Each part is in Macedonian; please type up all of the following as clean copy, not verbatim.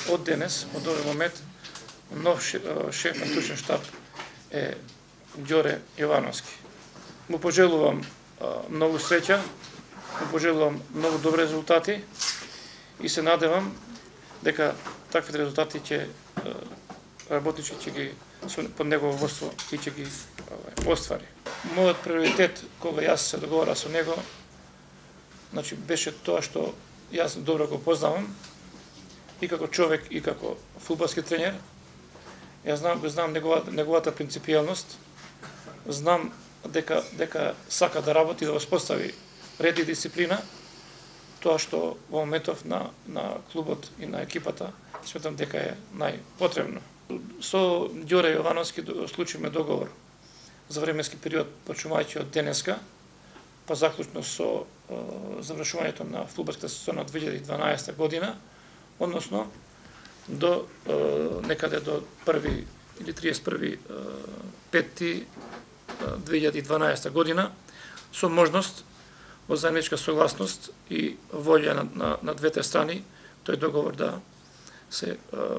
од денес, од овој момент, нов шеф на стручен штаб е Ѓоре Јовановски. Му пожелувам многу среќа, му пожелувам многу добри резултати и се надевам дека таквите резултати ќе работнички ќе ги под негово водство и ќе ги оствари. Мојот приоритет кога јас се договора со него, значи беше тоа што јас добро го познавам и како човек и како фудбалски тренер. Јас знам неговата принципијалност, знам дека сака да работи, да воспостави ред и дисциплина, тоа што во моментов на клубот и на екипата сметам дека е најпотребно. Со Ѓоре Јовановски склучивме договор за временски период почнувајќи од денеска, па заклучно со завршувањето на фудбалската сезона 2012 година, односно до некаде до 1 или 31.5.2012 година, со можност во заедничка согласност и волја на двете страни тој договор да се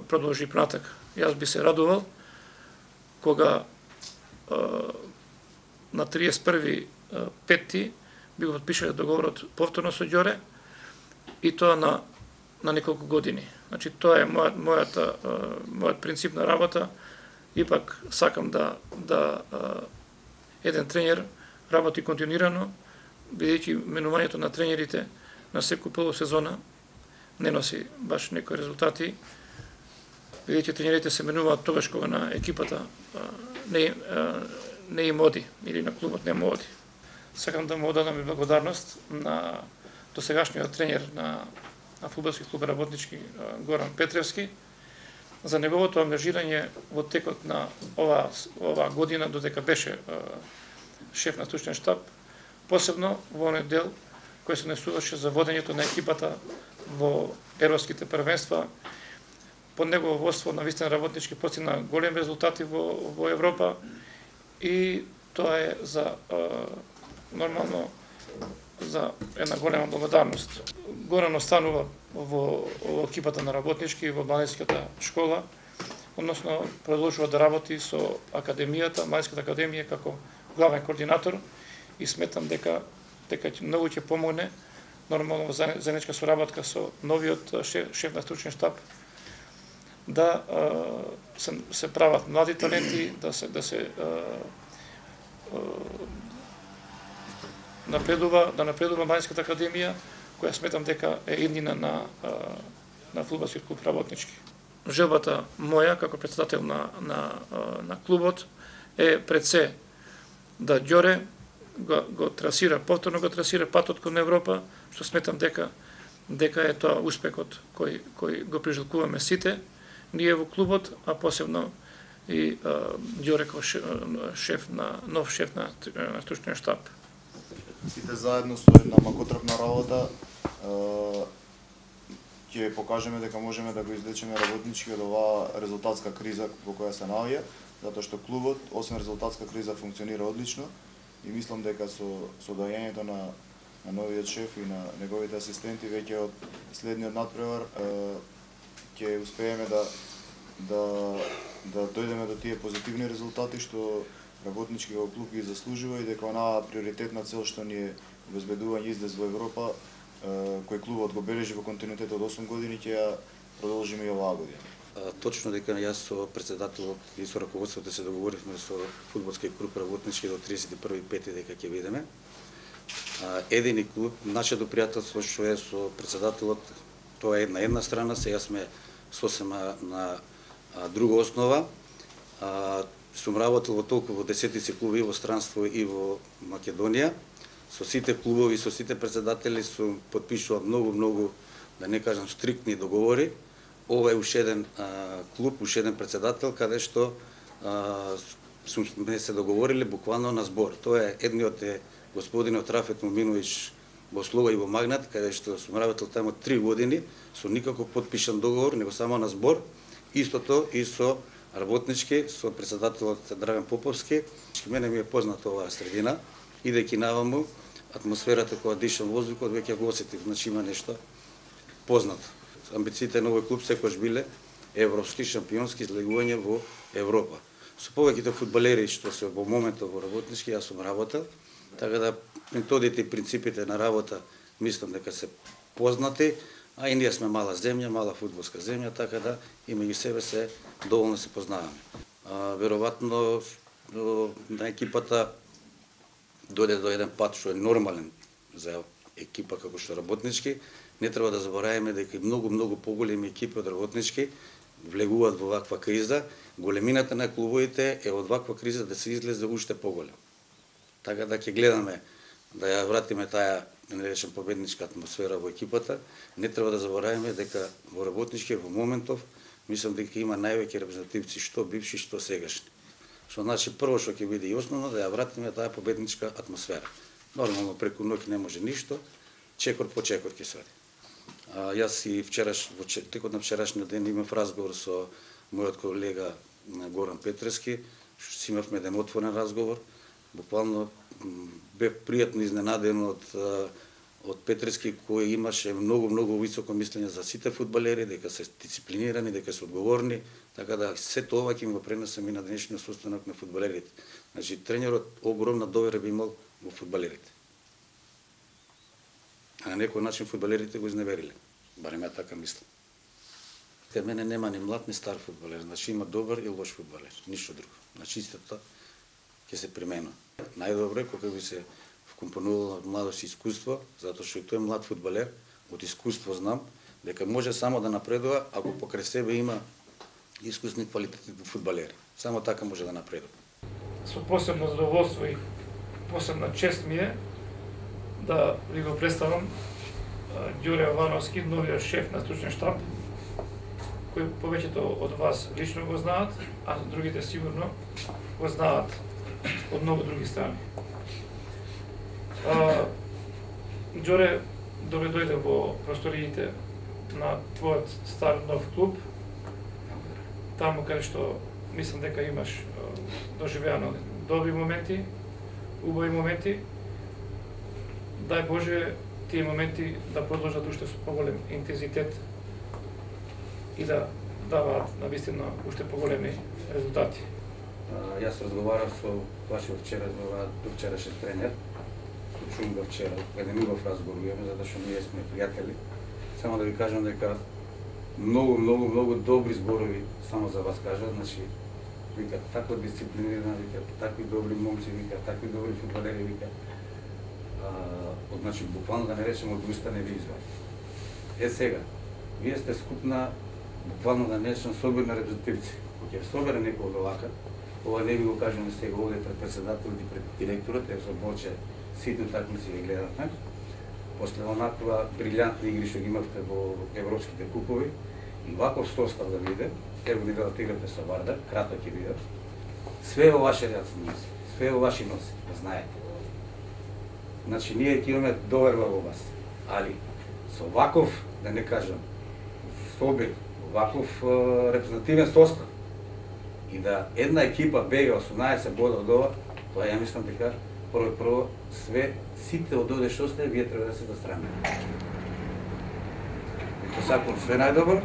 продолжи понатак. Јас би се радувал кога на 31.5. би го подпишале договорот повторно со Ѓоре и тоа на неколку години. Значи тоа е мојот принцип на работа. Ипак сакам да еден тренер работи континуирано, бидејќи менувањето на тренерите на секој полусезона не носи баш некои резултати, бидејќи тренерите се менуваат тогаш кога на екипата не им оди или на клубот не му оди. Сакам да му одадам и благодарност на досегашниот тренер на фудбалски клуб работнички Горан Петревски за неговото ангажирање во текот на оваа година додека беше шеф на стручен штаб, посебно во оној дел кој се однесуваше за водењето на екипата во европските првенства. Под негово водство навистина работнички постигна големи резултати во Европа и тоа е за нормално за една голема благодарност. Горан останува во екипата на работнички во младинската школа, односно продолжува да работи со академијата, младинската академија како главен координатор и сметам дека многу ќе помогне нормално во заедничка соработка со новиот шеф на стручен штаб да се прават млади таленти, да се напредува младинската академија, која сметам дека е иднина на фудбалски клуб работнички. Желбата моја како председател на клубот е пред се да Ѓоре повторно го трасира патот кон Европа, што сметам дека е тоа успехот кој го прижалкуваме сите, ние во клубот, а посебно и Ѓоре како нов шеф на стручен штаб. Сите заедно со една макотрапна работа ќе покажеме дека можеме да го излечеме работнички од оваа резултатска криза во која се наоѓа, затоа што клубот, освен резултатска криза, функционира одлично и мислам дека со доаѓањето на новиот шеф и на неговите асистенти веќе од следниот надпревар ќе успееме да дојдеме до тие позитивни резултати што работнички во клуб ги заслужува и дека онаа приоритетна цел што ни е обезбедување издез во Европа, кој клубот го бележи во континуитет од 8 години, ќе ја продолжиме и оваа година. Точно дека јас со председателот и со раководството се договоривме со фудбалски клуб работнички до 31.5 дека ќе видиме. Едини клуб, нашето пријателство што е со председателот, тоа е на една страна, сега сме сосема на друга основа. Сум работел во толку во десетици клуби во странство и во Македонија. Со сите клубови, со сите председатели сум потпишувал многу, да не кажам стриктни договори. Ова е уште еден клуб, уште еден председател, каде што сме се договорили буквално на збор. Тоа е едниот е господинот Рафет Моминовиќ во Слога и во Магнат, каде што сум работел таму 3 години, со никаков потпишан договор, него само на збор. Истото и со работнички, со председателот Драган Поповски. Мене ми е позната оваа средина, идејќи наваму, атмосферата која дишам воздухот, веќе го осетив, значи има нешто познато. амбициите на овој клуб секогаш биле европски, шампионски излегување во Европа. Со повеќето фудбалери што се во моментот во работнички, јас сум работел, така да методите и принципите на работа мислам дека се познати, а и ние сме мала земја, мала фудбалска земја, така да и меѓу себе се доволно се познаваме. Веројатно на екипата дојде до еден пат што е нормален за екипа како што работнички. Не треба да забораваме дека и многу поголеми екипи од работнички влегуваат во ваква криза. Големината на клубовите е од ваква криза да се излезе уште поголем. Така да ќе гледаме да ја вратиме таа, да не речем, победничка атмосфера во екипата. Не треба да забораваме дека во работнички во моментов мислам дека има највеќе репрезентативци што бивши, што сегашни. Што значи прво што ќе биде и основно да ја вратиме таа победничка атмосфера. Нормално преку ноќ не може ништо, чекор по чекор ќе се оди. Јас и во текот на вчерашниот ден имав разговор со мојот колега Горан Петрески, си имавме еден отворен разговор. Буквално бев пријатно изненаден од Петрески, кој имаше многу високо мислење за сите фудбалери, дека се дисциплинирани, дека се одговорни, така да се тоа ќе го пренесам и на денешниот состанок на фудбалерите. Значи тренерот огромна довера би имал во фудбалерите. А на некој начин фудбалерите го изневериле. Барем ја така мислам. Кај мене нема ни млад ни стар фудбалер, значи има добар и лош фудбалер, ништо друго. Значи истото ќе се применува. Најдобро е кога би се вкомпонувало младост и искуство, затоа што и тој млад фудбалер од искуство знам дека може само да напредува ако покрај себе има искусни квалитети фудбалери. Само така може да напредува. Со посебно задоволство и посебна чест ми е да ви го представам Ѓуре Јовановски, новиот шеф на стручен штаб, кој повеќето од вас лично го знаат, а другите сигурно го знаат од многу други страни. Ѓоре, добре дојде во просториите на твојот стар нов клуб, таму каде што мислам дека имаш доживеано добри моменти, убави моменти. Дај Боже тие моменти да продолжат уште со поголем интензитет и да даваат навистина уште поголеми резултати. Јас разговарав со вашиот вчерашен тренер, чум го вчера, еден убав разговор имаме, затоа што ние сме пријатели. Само да ви кажам дека многу добри зборови само за вас кажат, значи вика таква дисциплинирана, вика такви добри момци, вика такви добри фудбалери, вика. Значи буквално да не речем од уста не ви извади. Сега, вие сте скупна, буквално да не речем собирна репрезентативци. Кога ќе собере некој од овака, ова не ви го кажеме сега овде пред председателот и пред директорот, со Боче ситни такмици ги гледавме. После онаква брилјантни игри што ги имавте во европските купови, и ваков состав да биде, ево ви да играте со Вардар, кратко ќе биде. Све во ваше раци носи, све во ваши носи, да знаете. Значи, ние ќе имаме доверба во вас, али со ваков, да не кажам, собир, ваков репрезентативен состав, и да една екипа бега 18 бода од ова, тоа ја мислам дека прво све, сите од овде што сте, вие треба да се застраме. Ви посакувам све најдобро.